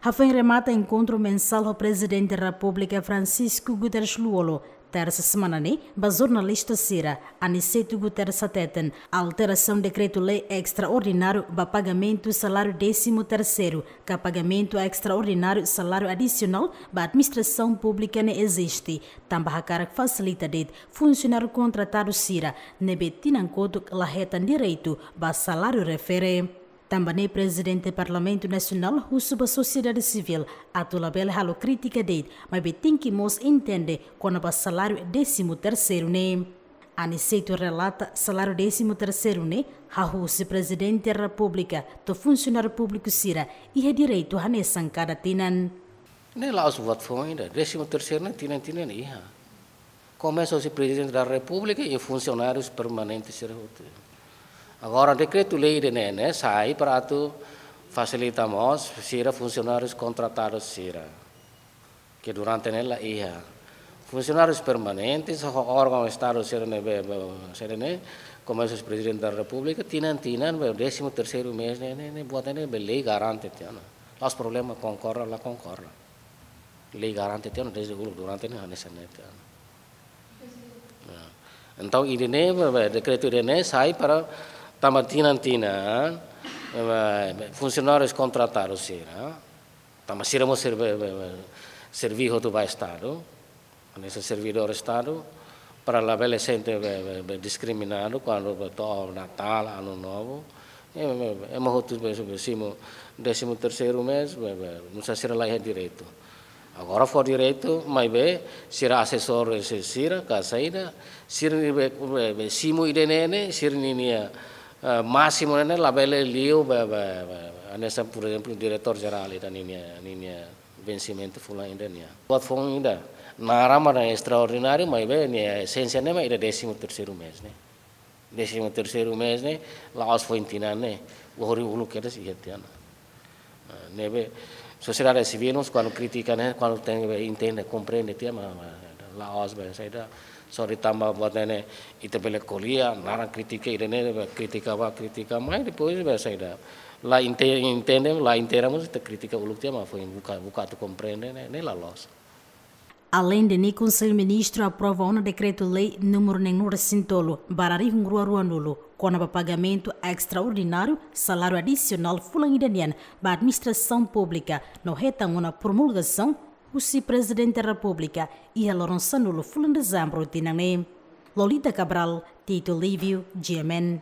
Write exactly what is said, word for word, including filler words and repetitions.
Hafoin remata enkontru mensál ho Prezidente Repúblika Francisco Guterres Lú-Olo, tersa semana ne'e, ba jornalista sira, Aniceto Guterres hateten, alterasaun dekretu-lei estraordináriu ba pagamentu saláriu désimu terseiru, ka pagamentu estraordináriu saláriu adisionál ba administrasaun públika ne'e eziste, tanba hakarak fasilita de'it funsionáriu kontratadu sira ne'ebé tinan kotuk la hetan direitu ba saláriu refere. Tanba ne'e Prezidente Parlamentu Nasionál husu ba sosiedade sivíl atu labele halo krítika de'it, maibé tenke mós entende kona-ba saláriu désimu terseiru ne'e. Aniceto relata saláriu désimu terseiru ne'e hahú husi Prezidente Repúblika to'o funsionáriu públiku sira iha direitu hanesan kada tinan. Ne'e la'ós buat foun ida, désimu terseiru ne'e tinan-tinan iha. Komesa husi Prezidente da Repúblika i funsionárius permanente sira hotu. Agora dekretu-lei ida-ne'e ne'e sai para atu fasilita mós sira funsionárius kontratadu sira, ke durante ne'e la iha. Funsionárius permanentes ho órgaun Estadu sira ne'ebé, be, sira ne'e, komesa husi Prezidente da Repúblika, tinan-tinan, be, désimu terseiru mês ne'e, ne'e, ne'e, buat ne'e, be, lei garante tiha ona. La'ós problema konkorda, la konkorda. Lei garante tiha ona, dezde uluk durante ne'e, hanesan ne'e tiha ona. Ya. Entaun, ida-ne'e, be, be, dekretu ida-ne'e sai para tanba tinan-tinan, be, be, funsionárius kontratadu sira, tanba sira mós serve, be, be, serve hotu ba Estadu, hanesan servidór Estadu, para labele sente, be, be, be, diskriminadu kuandu, be, to'o Natál, Anu Novu. Ema, ema, ema hotu, be, be, simu, désimu terseiru mês, be, be, nusá sira la iha direitu. Agora fó direitu, maibé sira asesór, se sira, ka saida, sira ne'ebé, be, be, simu ida-ne'e ne'e, sira ninia, eh, másimu ne'e ne'e, labele liu, be, be, be, hanesan, por ezemplu, diretór jerál ida ninia, ninia vensimentu fulan ida nian. Buat foun ida, naran mak estraordináriu, maibé nia esénsia ne'e mak ida désimu terseiru mês ne'e. Désimu terseiru mês ne'e, la'ós foin tinan ne'e, lori uluk kedas iha tiha ona. Ah, ne'ebé, sosiedade sivíl mós kuandu kritika ne'e, kuandu tenke be entende, komprende tiha, ma, ma, la'ós be saida, só de'it tanba buat ne'e ne'e, ita bele ko'alia, naran kritika ida-ne'e, be kritika bá, kritika mai, depois be saida. La ente-, entende, la entende mós ita kritika uluk tiha, ma foin buka, buka atu komprende, ne'e, ne'e la loos. Aleinde ne'e, Konsellu Ministru aprova ona dekretu-lei númeru neen-nulu-resin-tolu barra rihun rua ruanulu, kona-ba pagamentu estraordináriu saláriu adisionál fulan ida nian ba administrasaun públika, no hetan ona promulgasaun husi Prezidente Repúblika iha loron sanulu fulan Dezembru tinan ne'e. Lolita Cabral, Tito Livio, G M N.